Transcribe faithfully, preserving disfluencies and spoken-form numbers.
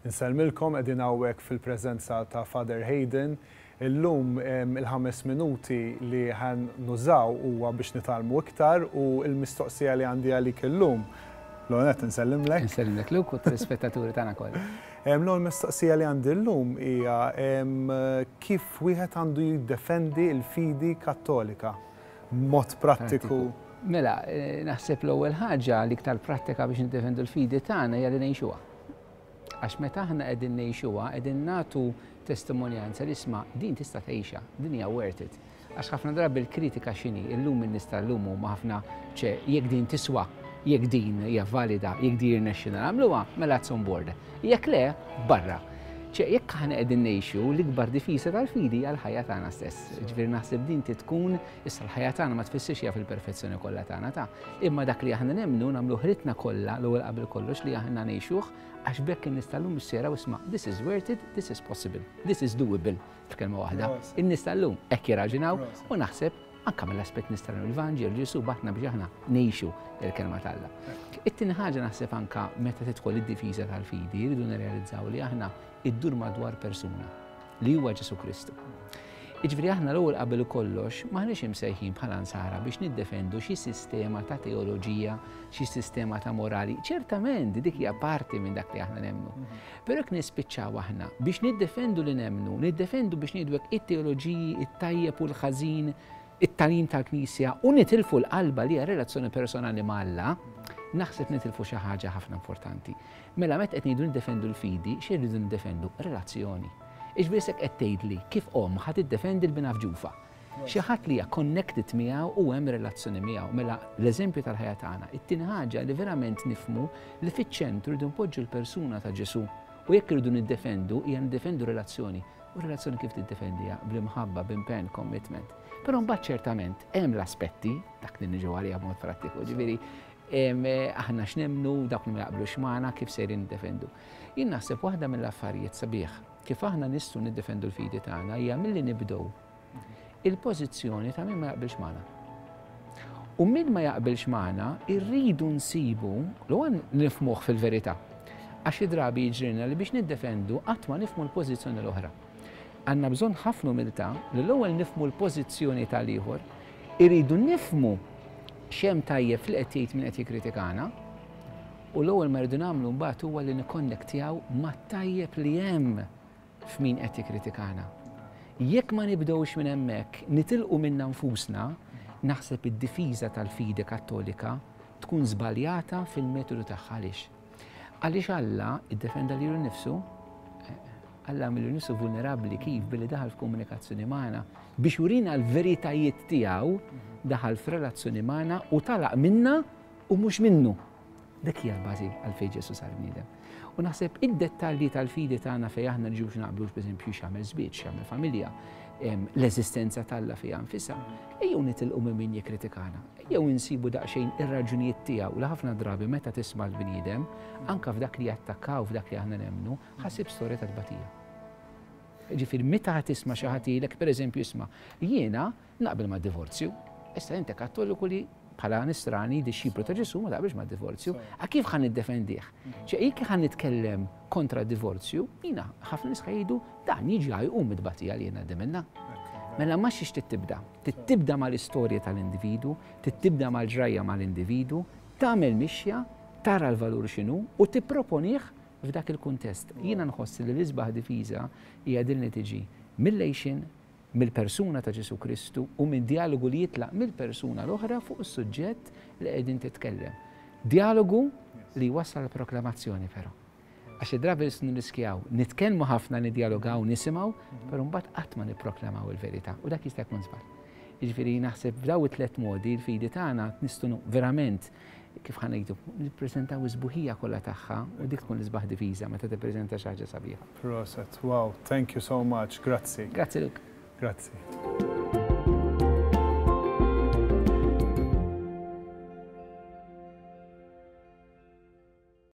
Insellmilkom, qegħdin hawnhekk fil-preżenza ta' Father Hayden. Illum il-ħames minuti li ħa nużaw huwa biex nitgħallmu iktar u il-mistoqsija li għandi għalik illum. L-għonet nsellimlek. Nsellimlek Luke u telespettaturi tagħna kollha. L-ewwel mistoqsija li għandi llum hija kif wieħed għandu jiddefendi l-fidi Kattolika mod prattiku. Mela, eh, naħseb l-ewwel ħaġa l-iktar prattika biex niddefendu l-fidi tagħna hija li ngħixuha. Għax meta aħna qegħdin ngħixuha, qegħdin nagħtu testimonjanza li isma', din tista' tgħixha, din hija worth it. Għax ħafna drabi l-kritika x'inhi, illum in-nies tal-lum huma ħafna ċe jekk din tiswa, jekk din hija valida, jekk din irnexxina nagħmluha, mela it's on board. Jekk le, barra. ċe jekk aħna qegħdin ngħixu, l-ikbar difiża tal-fidi hija l-ħajja tagħna stess. Ġifieri naħseb din tkun issa l-ħajja tagħna ma tfissirx hija fil-perfezzjoni kollha tagħna ta' imma dak li aħna nemmnu nagħmlu ħritna kollha l-ewwel qabel kollox li aħna ngħixuh, għax b'hekk in-nies tal-lum issera isma', this is worth it, this is possible, this is doable, f'kelma waħda. In-nies tal-lum hekk jirraġunaw u naħseb anka mill-aspett nistgħu l-Vanġel, Ġesu bagħatna biex aħna ngħixu il-kelma t'Alla. It-tieni ħaġa, naħseb anka meta tidħol id-difiża tal-fidi, rridu nirrealizzaw li aħna iddur madwar persuna li huwa Ġesu Kristu. Iġifieri aħna l-ewwel qabel kollox m'aħniex imsejħin bħala nsara biex niddefendu xi sistema ta' teoloġija, xi sistema ta' morali. Ċertament dik hija parti minn dak li aħna nemmnu. Però jekk nispiċċaw aħna biex niddefendu li nemmnu, niddefendu biex ngħidu it-teoloġiji, it-tajjeb u l-ħażin, it-tagħlim tal-Knisja u nitilfu l-qalba li hija relazzjoni personali ma' Alla, naħseb nitilfu xi ħaġa ħafna importanti. Mela meta qed ngħidu niddefendu l-fidi, xi rridu niddefendu? Relazzjoni. Iġifieri s'hekk qed tgħidli kif omm ħa tiddefendi 'l binha f'ġufha. Xi ħadd li hija connected miegħu u hemm relazzjoni miegħu. Mela l-eżempju tal-ħajja tagħna. It-tieni ħaġa li verament nifhmu li fiċ-ċentru rridu npoġġu l-persuna ta' Ġesu. U jekk irridu niddefendu, hija niddefendu relazzjoni. U relazzjoni kif tiddefendiha? Bl-imħabba, b'impenn, commitment. Però mbagħad ċertament hemm l-aspetti dak li niġu għalija b'mod prattiku. Ġifieri aħna x'nemmnu, dak li ma jaqblux magħna, kif sejrin niddefendu. Jien naħseb waħda mill-affarijiet sabiħ kif aħna nistgħu niddefendu l-fidi tagħna hija milli nibdew il-pożizzjoni ta' min ma jaqbilx magħna. U min ma jaqbilx magħna irridu nsibu l nifhmuh fil-verità. Għax drabi jiġrilna li biex niddefendu qatt ma nifhmu l-pożizzjoni l-oħra. Għandna bżonn ħafna umiltà li l-ewwel nifhmu l-pożizzjoni tal-ieħor, irridu nifhmu x'hemm tajjeb fil qed jgħid min qed jikkritikana, u l-ewwel ma rridu nagħmlu mbagħad huwa li nikkonnektjaw mat-tajjeb li hemm f'min qed jikkritikana. Jekk ma nibdewx minn hemmhekk, nitilqu minna nfusna, naħseb id-difiża tal-fidi Kattolika tkun żbaljata fil-metodu tagħha. Għaliex? Għaliex Alla iddefenda lilu nnifsu, Alla għamel nifsu vulnerabbli. Kif? Billi daħal f'komunikazzjoni magħna biex jurina l-veritajiet tiegħu, daħal f'relazzjoni magħna u talaq minna u mhux minnu. Dik hija l-bażi għalfejn Ġesu sar bniedem. U naħseb id-dettalji tal-fidi tagħna fejn aħna nġux naqblux, pereżempju x'jagħmel żwieġ, x'jagħmel familja, l-eżistenza t'Alla fiha nfisha, ejjew nitilqu minn min jikkritikana. Ejjew insibu daqsxejn ir-raġunijiet tiegħu li ħafna drabi meta tisma' l-bniedem, anka f'dak li jattakkaw f'dak li aħna nemmnu, ħa ssib storja ta' tbatija. Ġifieri meta tisma' xi ħadd jgħidlek, pereżempju, isma', jiena naqbel ma' divorzju. Issa inti Kattoliku li bħala nisrani, dixxiplu ta' Ġesu, ma taqbilx ma' divorzju, a kif ħa niddefendih? ċe jekk ħa nitkellem kontra divorzju, jiena ħafna nies jgħidu dan jiġi jqum mit-tbatija li jiena minna. Mela ma xiex tibda? Tibda mal-istorja tal-individu, tibda mal-ġrajja mal-individu, tagħmel mixja, tara l-valur x'inhu u tipproponih f'dak il-kuntest. Jiena nħoss li l-isbaħ difiża hija din li tiġi mill-għixien, mill-persuna ta' Ġesu Kristu u minn dialogu li jitlaq mill-persuna l-oħra fuq is-suġġett li qegħdin titkellem. Dialogu li wassal proklamazzjoni però. Għax id-drabi nirriskjaw, nitkellmu ħafna, nidjalogaw, nisimgħu, però mbagħad qatt ma nipproklamaw il-verità u dak jista' jkun żball. Jiġifieri naħseb f'daw it-tliet modi l-fidi tagħna nistgħu verament, kif ħa ngħidu, nippreżentaw is-sbuħija kollha tagħha u dik tkun l-isbaħ difiża meta tippreżenta xi ħaġa sabiħa. Proset, wow, thank you so much, grazzi. Grazzi, Luke. Grazzi.